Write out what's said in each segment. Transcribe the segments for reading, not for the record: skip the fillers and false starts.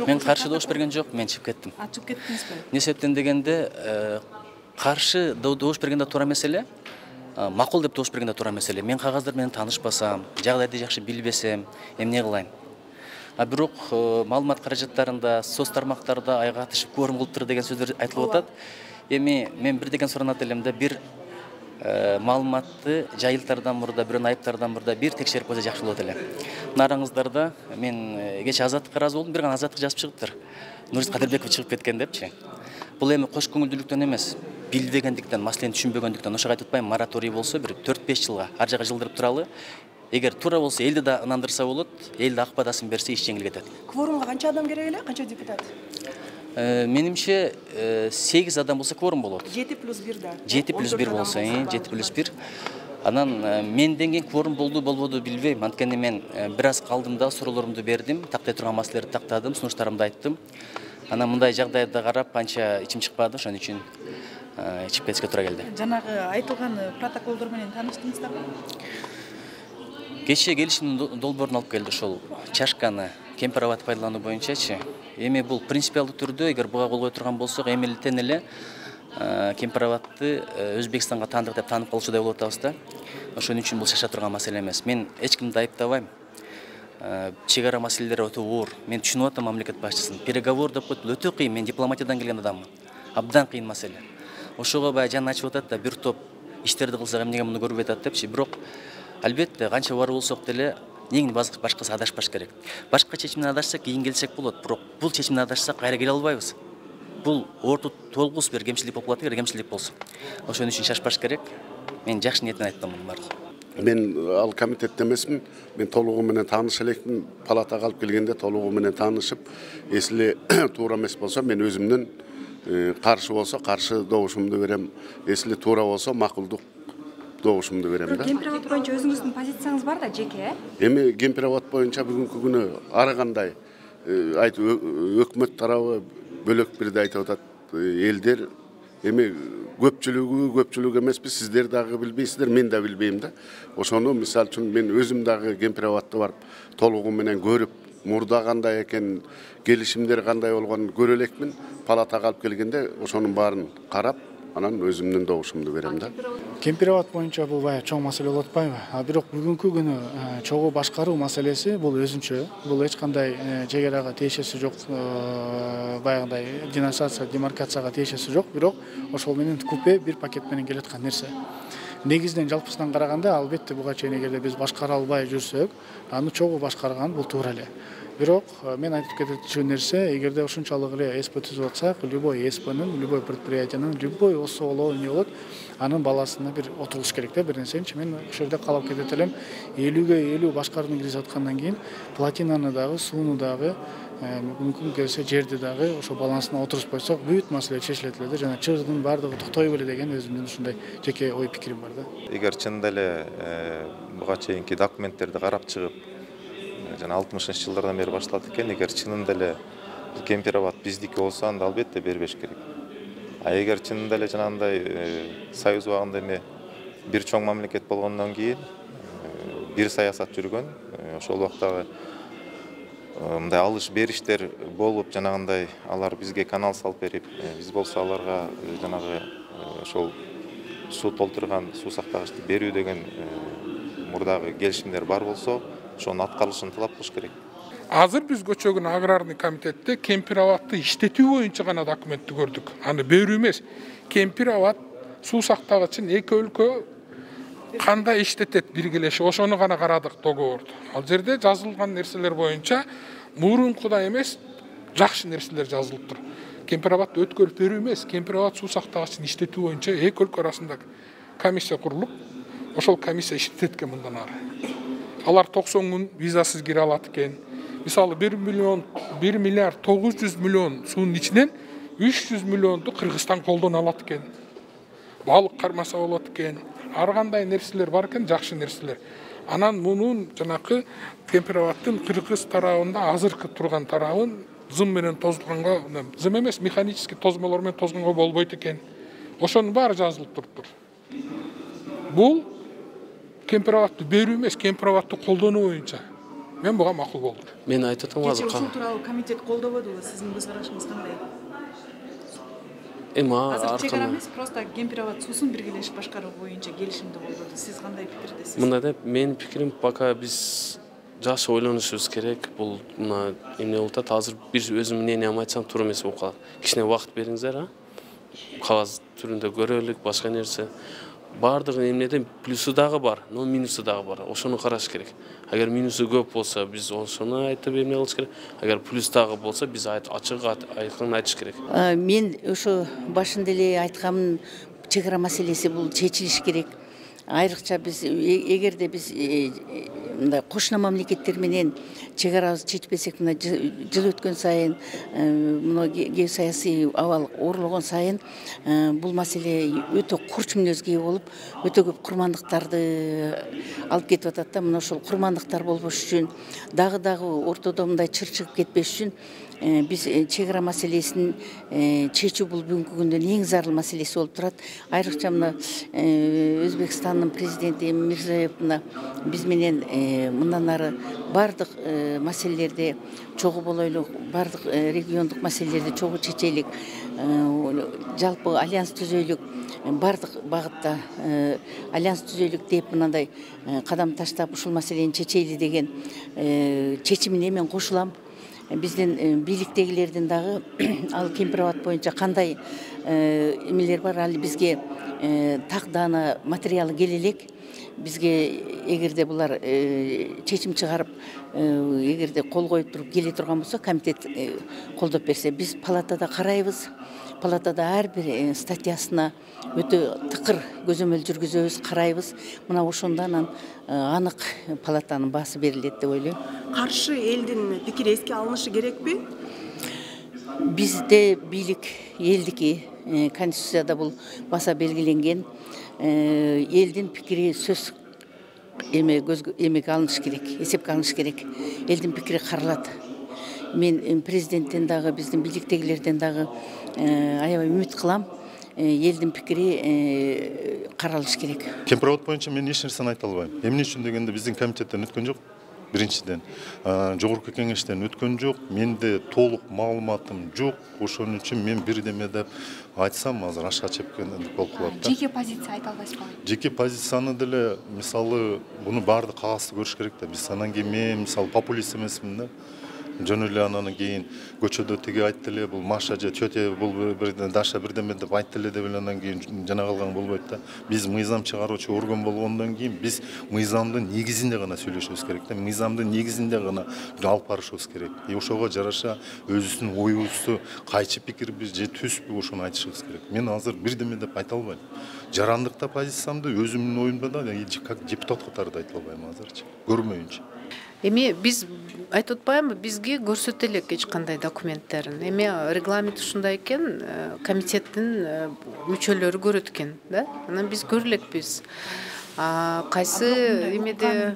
Мен каршы добуш берген жок, мен чыгып кеттим. Чыгып кеттиңизби? Эмне себептен дегенде, каршы добуш бергенде туура меселе, макул деп добуш бергенде туура меселе. Мен кагаздар менен таанышпасам, жагдайды жакшы билбесем, эмне кылайын? Бирок маалымат каражаттарында, соц тармактарда айга атышып кворум кылыптыр деген сөздөр айтылып атат. Эми мен бир деген суранат элем да, бир маалыматты жайылтардан мурда, бирөөнү айыптардан мурда бир текшерип койсо жакшы болот эле. Нараңыздарда мен кече Азаттыкка ыраазы болдум, бир гана Азаттык жазып чыгыптыр. Нурис Кадырбеков чыгып кеткен депчи. Бул эми кош көңүлдүүлүктөн эмес, билбегендиктен, маселени түшүнбөгөндүктөн. Ошого айтып атпайм, мораторий болсо бир 4-5 жылга ар жака жылдырып туралы. Эгер туура болсо элди да ынандырса болот, эл да ак баадасын берсе иш жеңил кетет. Кворумга канча адам керек эле? Канча депутат? Менимче 8 адам болсо кворум болот. 7+1 да. 7+1 болсо, 7+1. Анан менден кийин кворум болду, болбоду билбейм. Анткени мен бир аз калдым да, суроолорумду бердим, тактай турган маселелерди тактадым, сунуштарымды айттым. Анан мындай жагдайда карап анча ичим чыкпады, ошон үчүн чыгып кетишке туура келди. Жанагы айтылган протоколдор менен тааныштыңыздарбы? Кечээ келишимдин долбоорун алып келди, ошол чашканы кемпир абад пайдалануу боюнчачы. Эми бул принципиалдуу түрдө эгер буга кол кое турган болсок, эмилтен эле кемпир абадты Өзбекстанга таандык деп таанып калышуудай болуп атабыз да. Ошон үчүн бул шаша турган маселе эмес. Мен эч кимди айыптабайм. Чек ара маселелери өтө оор. Мен түшүнүп атам мамлекет башчысын. Переговор деп коет, өтө кыйын. Мен дипломатиядан келген адаммын. Абдан кыйын маселе. Ошого баягы жаны ачып атат да, бир топ иштерди кылсак эмнеге муну көрбөй атат депчи. Бирок албетте канча бар болсок деле негин башкасы адашпаш керек. Башка чечимден адашсак кийин келсек болот, бирок бул чечимден адашсак кайра келе албайбыз. Бул орто толгус бир кемчилик болуп калат, кемчилик болсун. Ошон үчүн шашпаш керек. Мен жакшы ниетинен айттым муну баардыгын. Мен ал комитетте эмесмин. Мен толугу менен тааныша элекмин. Палатага алып келгенде толугу менен таанышып, эсли туура эмес болсо мен өзүмдүн каршы болсо каршы добушумду берем. Эсли туура болсо макулдук добушумду берем да. Кемпир абад боюнча өзүңүздүн позицияңыз бар да, жеке? Эми кемпир абад боюнча бүгүнкү күнү ар кандай өкмөт тарабы бөлөк бирде айтып атат. Элдер эми көпчүлүк эмеспи, сиздер дагы билбейсиздер, мен да билбейм да. Ошону мисалы үчүн мен өзүм дагы кемпир абадты барып толугу менен көрүп, мурда кандай экен, келишимдер кандай болгонун көрө элекмин. Палатага алып келгенде ошонун баарын карап, анан өзүмдүн добушумду берем да. Кемпир абад боюнча бул баягы чоң маселе болуп атпайбы? Бирок бүгүнкү күнү чогуу башкаруу маселеси бул өзүнчө. Бул эч кандай чек арага тиешеси жок, баягындай денонсация, демаркацияга тиешеси жок, бирок ошол менен купе бир пакет менен келаткан нерсе. Негизинен жалпысынан караганда албетте буга чейин эгерде биз башкара албай жүрсөк, аны чогуу башкарган бул туура эле. Бирок мен айтып кетчү нерсе, эгерде ушунчалык эле СП түзүп атсак, любой СПнын, любой предприятиянын, любой осоолоо эмне болот, анын баласына бир отурулуш керек да, бир нерсенчи. Мен ошол жерде калып кетет элем. 50ге 50 башкарууну киргизип аткандан кийин платинаны дагы, сууну дагы, мүмкүн келсе жерди дагы ошо балансына отуруп койсок, бүт маселе чечилет эле да. Жана чырдын баардыгы токтой беле деген өзүмдүн ушундай жеке ой пикирим бар да. Эгер чынында эле буга чейинки документтерди карап чыгып, жана 60-жылдардан бери башталат экен, эгер чынында эле кемпир абад биздики болсо, анда албетте бербеш керек. Эгер чынында эле жанагындай союз убагында эме бир чоң мамлекет болгондон кийин бир саясат жүргөн, ошол убактагы мындай алыш бериштер болуп, жанагындай алар бизге канал салып берип, биз болсо аларга жанагы ошол суу толтурган суу сактагычты берүү деген мурдагы келишимдер бар болсо, ошонун аткарылышын талап кылыш керек. Азыр биз Көчөгүн аграрный комитетте кемпир абадты иштетүү боюнча гана документти көрдүк. Аны берүү эмес. Кемпир абад суу сактагычын эки өлкө кандай иштетет биргелешип, ошону гана карадык договорду. Ал жерде жазылган нерселер боюнча мурункудай эмес, жакшы нерселер жазылыптыр. Кемпир абадты өткөрүп берүү эмес, кемпир абад суу сактагычын иштетүү боюнча эки өлкө арасында комиссия курулуп, ошол комиссия иштетет экен мындан ары. Алар 90 күн визасыз кире алат экен. Мисалы 1 миллиард 900 миллион суунун ичинен 300 миллионду Кыргызстан колдоно алат экен. Балык кармаса болот экен. Ар кандай нерселер бар экен, жакшы нерселер. Анан мунун жанакы кемпир абадтын Кыргыз тарабында азыркы турган тарабын зым менен тозгонго, зым эмес, механический тозмолор менен тозгонго болбойт экен. Ошонун баары жазылып туруптур. Бул кемпир абадты берүү эмес, кемпир абадты колдонуу боюнча Мен буга макул болдум. Мен айтып атам Кечээ азыр ушул тууралуу комитет колдободубу? Сиздин көз карашыңыз кандай? эми Азыр чек ара аркан эмес, просто Кемпирабад суусун биргелешип башкаруу боюнча келишимди колдоду. Сиз кандай пикирдесиз? мындай деп менин пикирим пока биз жакшы ойлонушубуз керек. Бул мына эмне болуп атат азыр бир өзүм мнениямды айтсам туура эмес болуп калат. Кичине убакыт бериңиздер, кагаз түрүндө көрөлүк, башка нерсе. Бардыгы эмнеден плюсу дагы бар, но минусу дагы бар. Ошону караш керек. Агер минусу көп болсо, биз ошону айтып эмне кылыш керек. Агер плюс дагы болсо, биз ачык айкын айтыш керек. Мен ошо башында эле айтканмын, чек ара маселеси бул чечилиш керек. Айрыкча биз эгерде биз мындай кошуна мамлекеттер менен чек арабызды чечпесек, мына жыл өткөн сайын, мына геосаясий абал оорлогон сайын бул маселе өтө курч мүнөзгө ээ болуп, өтө көп курмандыктарды алып кетип атат да. Мына ошол курмандыктар болбош үчүн, дагы ортодо мындай чыр чыгып кетпеш үчүн биз чек ара маселесин чечүү бул бүгүнкү күндө эң зарыл маселеси болуп турат. Айрыкча мына Өзбекстандын президенти Мирзиёев мына биз менен мындан ары бардык маселелерди чогуу болойлук, бардык региондук маселелерди чогуу чечелик, жалпы альянс түзөйлүк, бардык багытта альянс түзөйлүк деп мындай кадам таштап ушул маселени чечели деген чечимине мен кошулам. Биздин бийликтегилердин дагы ал Кемпирабад боюнча кандай эмелер бар, ал бизге тагдана материалы келе элек. Бизге эгерде булар чечим чыгарып, эгерде кол коюп туруп келе турган болсо, комитет колдоп берсе, биз палатада карайбыз. Палатада ар бир статьясына өтө тыкыр көзөмөл жүргүзөбүз, карайбыз. Мына ошондон анык палатанын баасы берилет деп ойлойм. Каршы элдин пикири эске алынышы керекпи? Бизде бийлик элдики, конституцияда бул баса белгиленген. Элдин пикири сөз эмеге алыныш керек, эсепке алыныш керек. Элдин пикири каралат. Мен президенттен дагы, биздин бийликтегилерден дагы аябай үмүт кылам. Элдин пикири каралыш керек. Кемпирабад боюнча мен эч нерсени айта албайм. Эмне үчүн дегенде биздин комитеттен өткөн жок. Биринчиден, жогорку кеңештен өткөн жок. Менде толук маалыматым жок. Ошон үчүн мен бирдеме деп айтсам, азыр ашка чепкендик болуп калат да. Жеке позиция айта албайсызбы? Жеке позицияны деле, мисалы, буну баарды кагазды көрүш керек да. Биз анан кийин мен мисалы популист эмесмин да. Жөн эле анан кийин көчөдө тиги айтты эле, бул Маша же тете, бул Даша бирдеме деп айтты эле деп анан кийин жана калган болбойт да. Биз мыйзам чыгаруучу орган болгондон кийин биз мыйзамдын негизинде гана сүйлөшүбүз керек да. Мыйзамдын негизинде гана алып барышыбыз керек. Ошого жараша өзүбүздүн оюбузду, кайчы пикирбиз же түспү, ошону айтышыбыз керек. Мен азыр бирдеме деп айта албайм. Жарандыкта позициямды өзүмдүн оюмда да как депутат катары да айта албайм азырчы. Көрмөйүнчө. Эми биз айтып атпаймынбы, бизге көрсөтө элек эч кандай документтерин. Эми регламент ушундай экен, комитеттин мүчөлөрү көрөт экен, да? Анан биз көрөлекпиз. Кайсы эмеде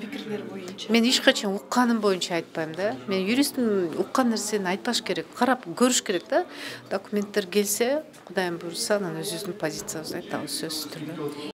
мен эч качан укканым боюнча айтпайм да. Мен юристтин уккан нерсени айтпаш керек, карап көрүш керек да. Документтер келсе, Кудайым буйрса, анан өзүбүздүн позициябызды айтабыз сөзсүз түрдө.